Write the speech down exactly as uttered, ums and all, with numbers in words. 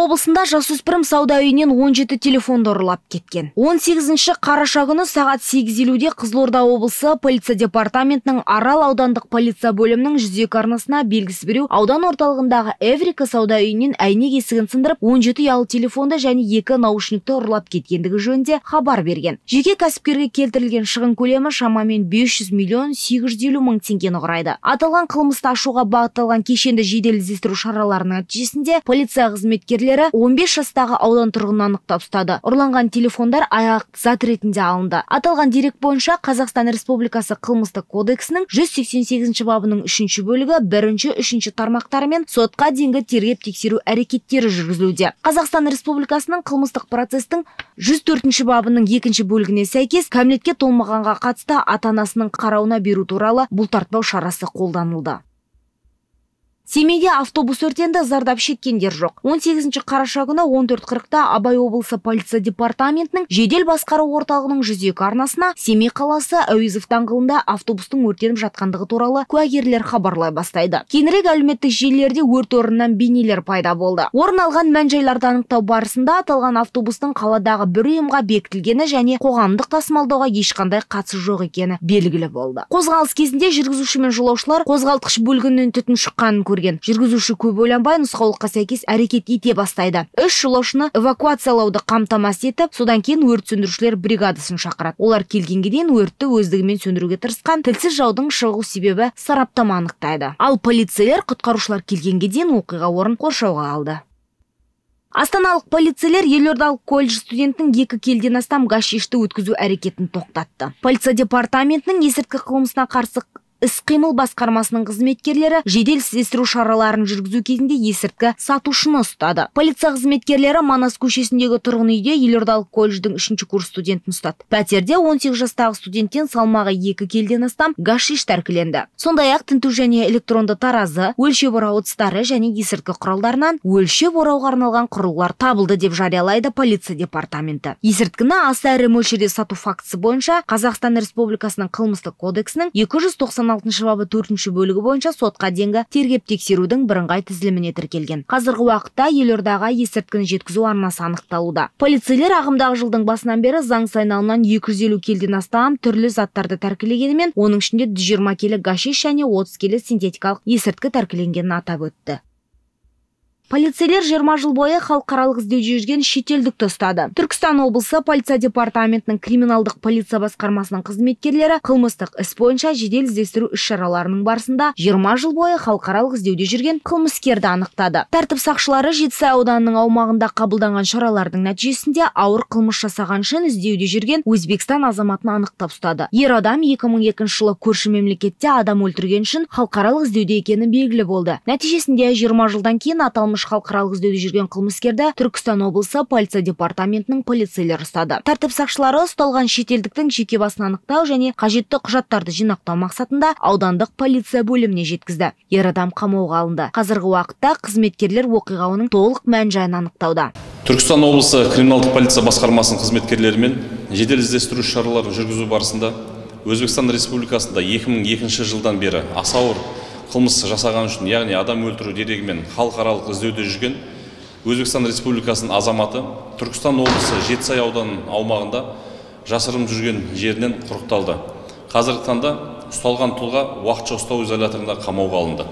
облысында жасөспірім сауда үйінен он жеті телефонды ұрлап кеткен. он сегізінші қараша күні сағат сегіз елуде Қызылорда облысы полиция департаментінің Арал аудандық полиция бөлімінің жүз екі арнасына белгісі біреу аудан орталығындағы Эврика сауда үйінен әйнек есігін сындырып он жеті ұялы телефонды және екі наушникті ұрлап кеткендігі жөнінде хабар берген. Жеке кәсіпкерге келтірілген шығын көлемі шамамен бес жүз миллион сегіз жүз елу мың теңгені құрайды. Аталған қылмысты ашуға бағытталған кешенді жедел іздестіру шараларының нәтижесінде полиция қызметкерлері он бес жастағы аудан тұрғынын анықтап ұстады. Ұрланған телефондар аяқ зат ретінде алынды. Аталған дерек бойынша Қазақстан Республикасы қылмыстық кодексінің жүз сексен сегізінші бабының үшінші бөлігі бірінші, үшінші тармақтарымен сотқа дейінгі тергеп тексеру әрекеттері жүргізілуде. Қазақстан Республикасының қылмыстық процестің жүз төртінші бабының екінші бөлігіне сәйкес кәмелетке толмағанға қатысты ата-анасының қарауына беру туралы бұлтартпау шарасы қолданылды. Семейде автобус өртенді, зардап шеккендер жоқ. он сегізінші қараша күні он төрт қырықта Абай облысы полиция департаментінің жедел басқару орталығының жүз екі арнасына Семей қаласы Әуезов даңғылында автобустың өртеніп жатқандығы туралы куәгерлер хабарлай бастайды. Кейінірек әлеуметтік желілерде өрт орнынан бейнелер пайда болды. Орын алған мән-жайларды анықтау барысында аталған автобустың қаладағы бір ұйымға бекітілгені және қоғамдық тасымалдауға ешқандай қатысы жоқ екені белгілі болды. Қозғалыс кезінде жүргізуші мен жолаушылар қозғалтқыш бөлігінен түтін шыққанын көрген. Жүргізуші көп ойланбай нұсқаулыққа сәйкес әрекет ете бастайды. Үш жолаушыны эвакуациялауды қамтамасыз етіп, содан кейін өрт сөндірушілер бригадасын шақырады. Олар келгенге дейін өртті өздігімен сөндіруге тырысқан, тілсіз жаудың шығу себебі сараптама анықтайды. Ал полицейлер құтқарушылар келгенге дейін оқиға орнын қоршауға алды. Астаналық полицейлер елордалық колледж студентінің екі келіден астам гашишті өткізу әрекетін тоқтатты. Полиция департаментінің есірткі қылмысына қарсы іс-қимыл басқармасының қызметкерлері жедел іздестіру шараларын жүргізу кезінде есірткі сатушыны ұстады. Полиция қызметкерлері Манас көшесіндегі тұрғын үйде елордалық колледждің үшінші курс студентін ұстады. Пәтерде он сегіз жастағы студенттен салмағы екі келіден астам гашиш тәркіленді. Сондай-ақ тінту және электронды таразы, өлшеп орау ыдыстары және есірткі құралдарынан өлшеп орауға арналған құрылғылар табылды деп жариялайды полиция департаменті. Есірткіні аса ірі мөлшерде сату фактісі бойынша Қазақстан Республикасының қылмыстық кодексінің екі жүз тоқсан алтыншы бабы төртінші бөлігі бойынша сотқа дейінгі тергеп тексерудің бірыңғай тізіліміне тіркелген. Қазіргі уақытта елордаға есірткіні жеткізу арнасы анықталуда. Полицейлер ағымдағы жылдың басынан бері заңсыз айналымнан екі жүз елу келіден астам түрлі заттарды тәркілегенімен, оның ішінде жүз жиырма келі гашиш және отыз келі синтетикалық есірткі тәркіленгенін атап өтті. Полицейлер жиырма жыл бойы халықаралық іздеуде жүрген шетелдікті ұстады. Түркістан облысы полиция департаментінің криминалдық полиция басқармасының қызметкерлері қылмыстық іс бойынша жедел іздестіру іс-шараларының барысында жиырма жыл бойы халықаралық іздеуде жүрген қылмыскерді анықтады. Тәртіп сақшылары Жетісай ауданының аумағында қабылданған шаралардың нәтижесінде ауыр қылмыс жасаған үшін іздеуде жүрген Өзбекстан азаматын анықтап ұстады. Ер адам екі мың екінші жылы көрші мемлекетте адам өлтірген үшін халықаралық іздеуде екені белгілі болды. Нәтижесінде жиырма жылдан кейін аталмыш халықаралық іздеуде жүрген қылмыскерді Түркістан облысы полиция департаментінің полицейлері ұстады. Тәртіп сақшылары ұсталған шетелдіктің жеке басын анықтау және қажетті құжаттарды жинақтау мақсатында аудандық полиция бөліміне жеткізді. Ер адам қамауға алынды. Қазіргі уақытта қызметкерлер оқиға оның толық мән-жайын анықтауда. Түркістан облысы криминалдық полиция басқармасының қызметкерлерімен жедел іздестіру шараларын жүргізу барысында Өзбекстан Республикасында екі мың екінші жылдан бері аса ауыр қылмыс жасаған үшін, яғни адам өлтіру дерегімен халықаралық іздеуде жүрген Өзбекстан Республикасының азаматы Түркістан облысы Жетісай ауданының аумағында жасырынып жүрген жерінен құрықталды. Қазіргі таңда ұсталған тұлға уақытша ұстау изоляторында қамауға алынды.